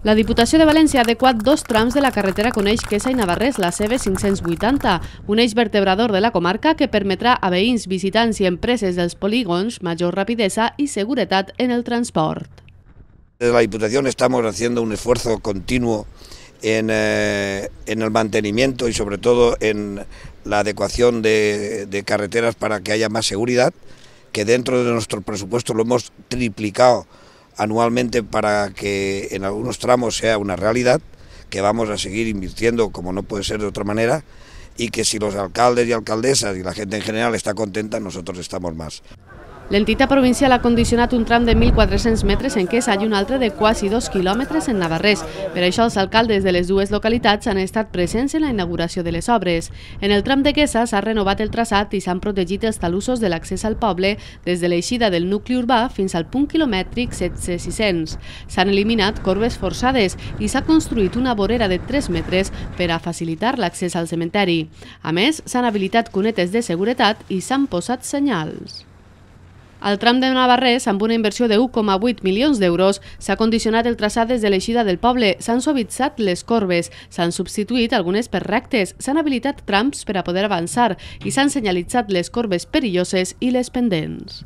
La Diputació de València ha adequat 2 trams de la carretera Coneix-Quesa i Navarrés, la CV580, un eix vertebrador de la comarca que permetrà a veïns, visitants i empreses dels polígons major rapidesa y seguretat en el transport. Desde la Diputación estamos haciendo un esfuerzo continuo en el mantenimiento y sobre todo en la adecuación de carreteras para que haya más seguridad, que dentro de nuestro presupuesto lo hemos triplicado anualmente para que en algunos tramos sea una realidad, que vamos a seguir invirtiendo como no puede ser de otra manera, y que si los alcaldes y alcaldesas y la gente en general está contenta, nosotros estamos más. L'entitat provincial ha condicionat un tram de 1.400 metres en Quesa i un altre de quasi 2 quilòmetres en Navarrés. Per això els alcaldes de les dues localitats han estat presents en la inauguració de les obres. En el tram de Quesa s'ha renovat el traçat i s'han protegit els talussos de l'accés al poble des de l'eixida del nucli urbà fins al punt quilomètric 17600. S'han eliminat corbes forçades i s'ha construït una vorera de 3 metres per a facilitar l'accés al cementeri. A més, s'han habilitat cunetes de seguretat i s'han posat senyals. Al tram de Navarrés, amb una inversió de 1,8 milions d'euros, s'ha condicionat el traçat des de l'eixida del poble, s'han suavitzat les corbes, s'han substituït algunes per rectes, s'han habilitat trams per a poder avançar i s'han senyalitzat les corbes perilloses i les pendents.